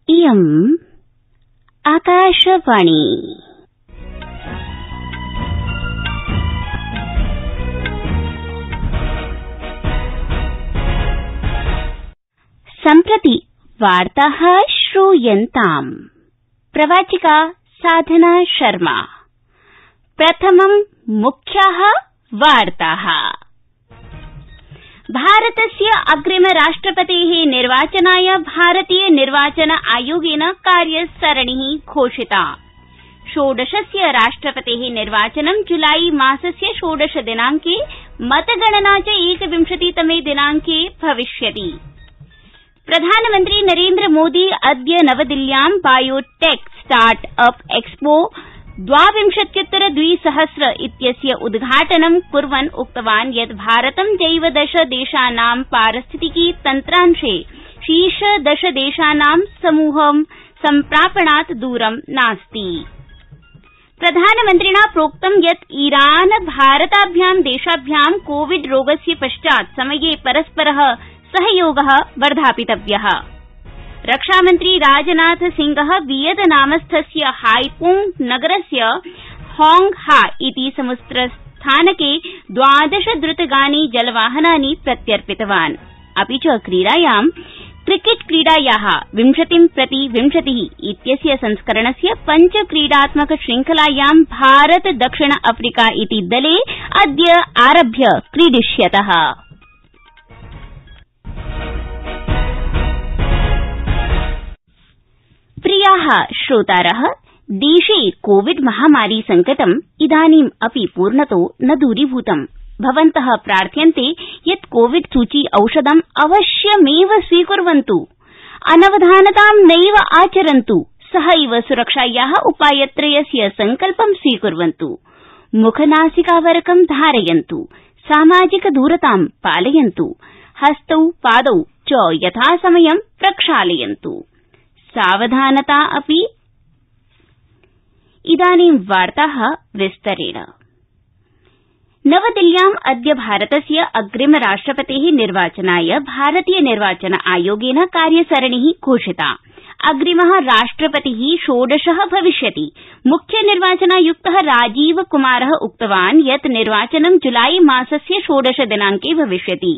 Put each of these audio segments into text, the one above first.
इयम् आकाशवाणी। सम्प्रति वार्ताः श्रूयन्ताम्। प्रवाचिका साधना शर्मा। प्रथमं मुख्याः वार्ताः। भारतस्य अग्रिम राष्ट्रपतेः निर्वाचनाय भारतीय निर्वाचन आयोगेन कार्यसरणिः घोषिता। षोडशस्य राष्ट्रपतेः निर्वाचनं जुलाई मासस्य 16 दिनांके, मतगणना च 21तमे दिनांके भविष्यति। प्रधानमन्त्री नरेन्द्र मोदी अद्य नवदिल्ल्यां बायोटेक स्टार्ट अप एक्सपो 2020 इत्यस्य उद्घाटनं कुर्वन् उक्तवान् यत् भारतं जैव 10 देशानां पारिस्थितिकी तन्त्रांशे शीर्ष 10 देशानां समूहं सम्प्रापणात् दूरं नास्ति। प्रधानमन्त्रिणा प्रोक्तं यत् ईरान भारताभ्यां देशाभ्यां कोविड रोगस्य पश्चात् समये परस्परः सहयोगः वर्धापितव्यः। रक्षामन्त्री राजनाथ सिंहः वियतनामस्थस्य हाइपोंग नगरस्य होंग हा इति समुद्रस्थानके 12 द्रुतगामी जलवाहनानि प्रत्यर्पितवान्। अपि च क्रीडायां क्रिकेट क्रीडायाः 20-20 इत्यस्य संस्करणस्य 5 क्रीडात्मक श्रृंखलायां भारत दक्षिण अफ्रीका इति दले अद्य आरभ्य क्रीडिष्यतः। प्रियाः श्रोतारः, देशे कोविड महामारी संकटम् इदानीम् अपि पूर्णतो न दूरीभूतम्। भवन्तः प्रार्थ्यन्ते यत् कोविड सूची औषधम् अवश्यमेव स्वीकुर्वन्तु, अनवधानतां नैव आचरन्तु, सहैव सुरक्षायाः उपायत्रयस्य संकल्पं स्वीकुर्वन्तु। मुखनासिकावरकं धारयन्तु, सामाजिक दूरतां पालयन्तु, हस्तौ पादौ च यथासमयं प्रक्षालयन्तु। सावधानता अपि। इदानीं वार्ताः विस्तरेण। नवदिल्ल्याम् अद्य भारतस्य अग्रिम राष्ट्रपतेः निर्वाचनाय भारतीय निर्वाचन आयोगेन कार्यसरणिः घोषिता। अग्रिमः राष्ट्रपतिः 16 भविष्यति। मुख्य निर्वाचनायुक्तः राजीव कुमारः उक्तवान् यत् निर्वाचनं जुलाई मासस्य 16 दिनांके भविष्यति।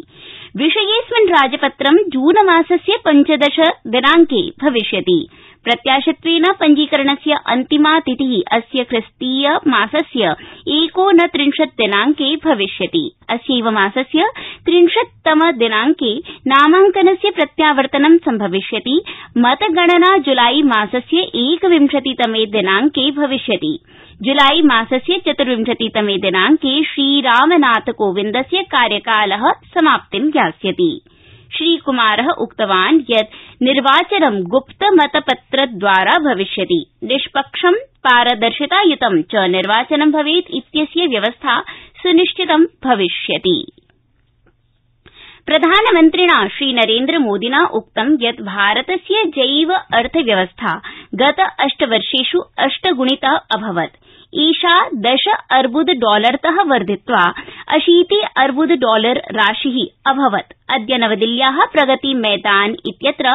विषयेऽस्मिन् राजपत्रं जून मासस्य 15 दिनांके भविष्यति। प्रत्याशित्वेन पञ्जीकरणस्य अन्तिमा तिथिः अस्य ख्रिस्तीय मासस्य 29 दिनांके भविष्यति। अस्यैव मासस्य 30तम दिनांके नामांकनस्य प्रत्यावर्तनं सम्भविष्यति। मतगणना जुलाई मासस्य 21तमे दिनांके भविष्यति। जुलाई मासस्य 24तमे दिनांके श्रीरामनाथ कोविन्दस्य कार्यकालः समाप्तिं यास्यति। श्रीकुमारः उक्तवान् यत् निर्वाचनं गुप्तमतपत्रद्वारा भविष्यति। निष्पक्षं पारदर्शितायुतं च निर्वाचनं भवेत् इत्यस्य व्यवस्था सुनिश्चितं भविष्यति। प्रधानमन्त्रिणा श्रीनरेन्द्रमोदिना उक्तं यत् भारतस्य जैव अर्थव्यवस्था गत 8 वर्षेष् 8 गुणिता अभवत्। एषा $10 अर्बुदतः वर्धित्वा $80 अर्बुद राशिः अभवत्। अद्य नवदिल्ल्याः प्रगति मैदान इत्यत्र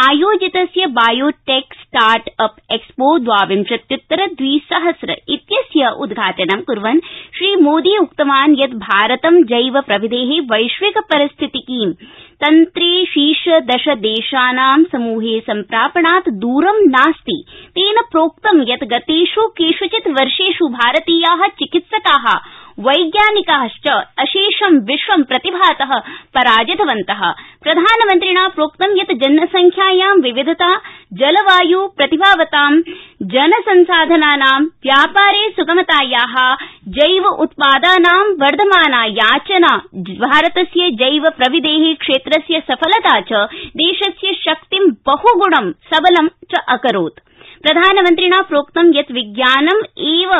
आयोजितस्य बायोटेक स्टार्ट अप एक्सपो 2020 इत्यस्य उद्घाटनं कुर्वन् श्रीमोदी उक्तवान् यत् भारतं जैव प्रविधेः वैश्विक परिस्थितिकीं तन्त्रे शीर्ष 10 देशानां समूहे सम्प्रापणात् दूरं नास्ति। तेन प्रोक्तं यत् गतेष् केषुचित् वर्षेष् भारतीयाः चिकित्सकाः वैज्ञानिकाश्च अशेषं विश्वं प्रतिभातः पराजितवन्तः। प्रधानमन्त्रिणा प्रोक्तं यत् जनसंख्यायां विविधता, जलवायु प्रतिभावतां, जनसंसाधनानां व्यापारे सुगमतायाः, जैव उत्पादानां वर्धमाना याचना भारतस्य जैव प्रविधेः क्षेत्रस्य सफलता च देशस्य शक्तिं बहुगुणं सबलं च अकरोत्। प्रधानमन्त्रिणा प्रोक्तं यत् विज्ञानम् एव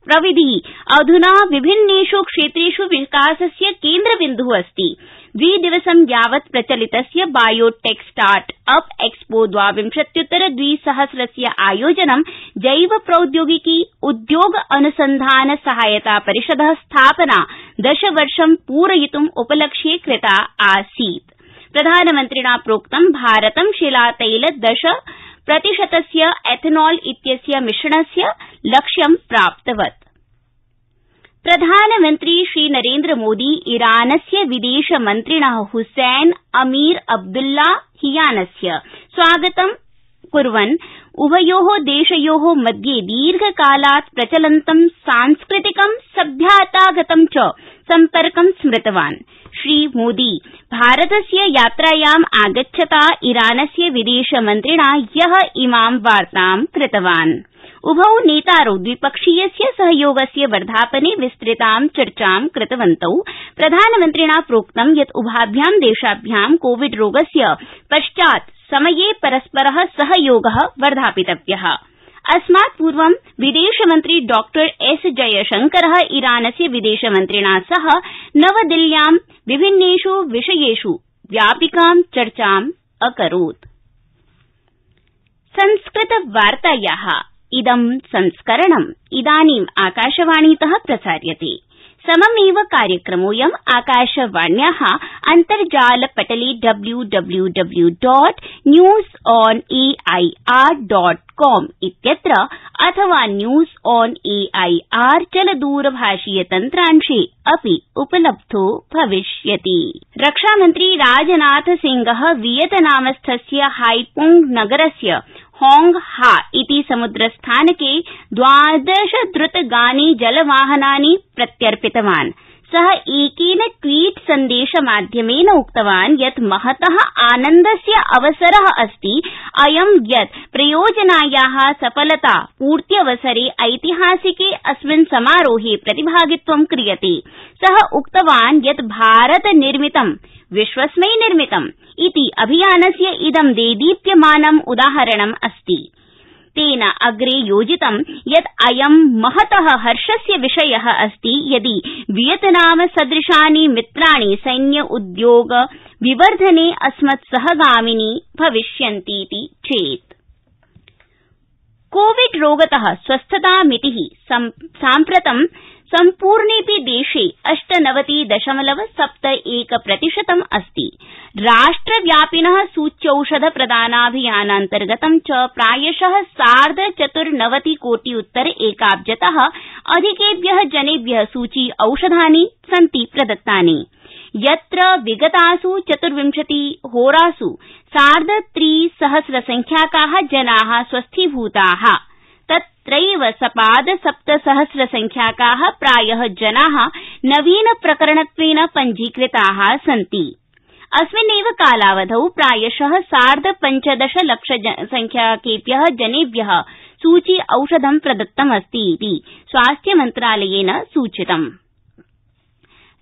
प्रविधिः अधुना विभिन्नेष् क्षेत्रेष् विकासस्य केन्द्रबिन्दुः अस्ति। 2 दिवसं यावत् प्रचलितस्य बायोटेक स्टार्ट अप एक्सपो 2020 आयोजनं जैव प्रौद्योगिकी उद्योग अनुसंधान सहायता परिषदः स्थापना 10 वर्षं पूरयितुम् उपलक्ष्ये कृता आसीत्। प्रधानमन्त्रिणा प्रोक्तं भारतं शिलातैल 10 प्रतिशतस्य एथनॉल इत्यस्य मिश्रणस्य लक्ष्यं प्राप्तवत्। प्रधानमन्त्री श्रीनरेन्द्रमोदी ईरानस्य विदेशमन्त्रिणः हुसैन अमीर अब्दुल्लाहियानस्य स्वागतं कुर्वन् उभयोः देशयोः मध्ये दीर्घकालात् प्रचलन्तं सांस्कृतिकं सभ्यतागतं च सम्पर्कं स्मृतवान्। श्रीमोदी भारतस्य यात्रायाम् आगच्छता ईरानस्य विदेशमन्त्रिणा ह्यः इमां वार्तां कृतवान्। उभौ नेतारौ द्विपक्षीयस्य सहयोगस्य वर्धापने विस्तृतां चर्चां कृतवन्तौ। प्रधानमन्त्रिणा प्रोक्तं यत् उभाभ्यां देशाभ्यां कोविड रोगस्य पश्चात् समये परस्परः सहयोगः वर्धापितव्यः। अस्मात् पूर्वं विदेशमन्त्री डॉ एस जयशंकरः ईरानस्य विदेशमन्त्रिणा सह नवदिल्ल्यां विभिन्नेष् विषयेष् व्यापकां चर्चाम् अकरोत्। संस्कृतवार्तायाः इदं संस्करणम् इदानीम् आकाशवाणीतः प्रसार्यते। सममेव कार्यक्रमोऽयम् आकाशवाण्याः अन्तर्जालपटले www.newsonair.com इत्यत्र अथवा न्यूज ऑन एआईआर चलदूरभाषीय तन्त्रांशे अपि उपलब्धो भविष्यति। रक्षामन्त्री राजनाथ सिंहः वियतनामस्थस्य हाइपोंग नगरस्य होंग हा इति समुद्रस्थानके 12 द्रुतगामी जलवाहनानि प्रत्यर्पितवान्। सः एकेन ट्वीट सन्देशमाध्यमेन उक्तवान् यत् महतः आनन्दस्य अवसरः अस्ति अयं यत् प्रयोजनायाः सफलता पूर्त्यवसरे ऐतिहासिके अस्मिन् समारोहे प्रतिभागित्वं क्रियते। सः उक्तवान् यत् भारत निर्मितं विश्वस्मै निर्मितम् इति अभियानस्य इदं देदीप्यमानम् उदाहरणम् अस्ति। तेन अग्रे योजितं यत् अयं महतः हर्षस्य विषयः अस्ति यदि वियतनाम सदृशानि मित्राणि सैन्य उद्योग विवर्धने अस्मत्सहगामिनी भविष्यन्तीति चेत्। कोविड रोगतः स्वस्थतामितिः साम्प्रतं सम्पूर्णेऽपि देशे 98.71% अस्ति। राष्ट्रव्यापिनः सूच्यौषध प्रदानाभियानान्तर्गतं च प्रायशः 94 कोटियुत्तर एकाब्जतः अधिकेभ्यः जनेभ्यः सूची औषधानि सन्ति प्रदत्तानि। यत्र विगतासु 24 होरासु 3,सहस्रसंख्याकाः जनाः स्वस्थीभूताः, तत्रैव सपाद 7,000 प्रायः जनाः नवीन प्रकरणत्वेन पञ्जीकृताः सन्ति। अस्मिन्नेव कालावधौ प्रायशः 15.5 लाख संख्याकेभ्यः जनेभ्यः सूची औषधं प्रदत्तमस्ति इति स्वास्थ्यमन्त्रालयेन सूचितम्।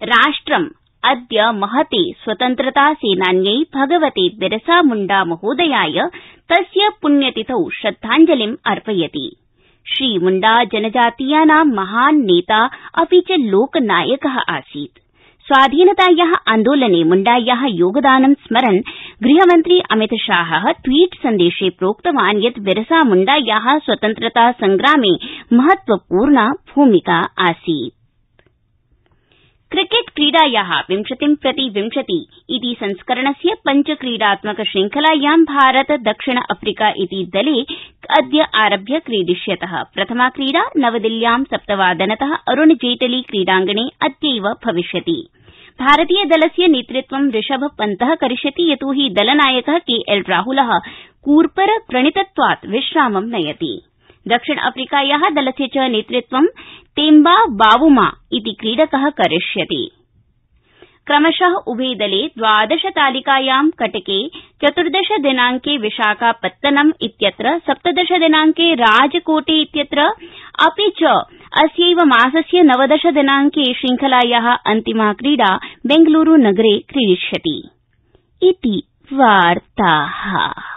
राष्ट्रम् अद्य महते स्वतन्त्रता सेनान्यै भगवते बिरसा मुण्डा महोदयाय तस्य पुण्यतिथौ श्रद्धाञ्जलिम् अर्पयति। श्रीमुण्डा जनजातीयानां महान् नेता अपि च लोकनायकः आसीत्। स्वाधीनतायाः आन्दोलने मुण्डायाः योगदानं स्मरन् गृहमन्त्री अमितशाहः ट्वीट सन्देशे प्रोक्तवान् यत् बिरसा मुण्डायाः स्वतन्त्रता संग्रामे महत्वपूर्णा भूमिका आसीत्। क्रिकेट क्रीडायाः 20-20 इति संस्करणस्य पञ्चक्रीडात्मक श्रृंखलायां भारत दक्षिण अफ्रीका इति दले अद्य आरभ्य क्रीडिष्यतः। प्रथमा क्रीडा नवदिल्ल्यां 7:00 अरुण जेटली क्रीडाङ्गणे अद्यैव भविष्यति। भारतीय दलस्य नेतृत्वं ऋषभ पन्तः करिष्यति, यतोहि दलनायकः केएल राहुलः कूर्पर व्रणितत्वात् विश्रामं नयति। दक्षिण अफ्रीकायाः दलस्य च नेतृत्वं तेम्बा बावुमा इति क्रीडकः करिष्यति। क्रमशः उभे दले 12 तालिकायां कटके 14 दिनांके विशाखापत्तनम इत्यत्र 17 दिनांके राजकोटे इत्यत्र अपि च अस्यैव मासस्य 19 दिनांके श्रृंखलायाः अन्तिमा क्रीडा बेंगलुरू नगरे क्रीडिष्यति। इति वार्ताः।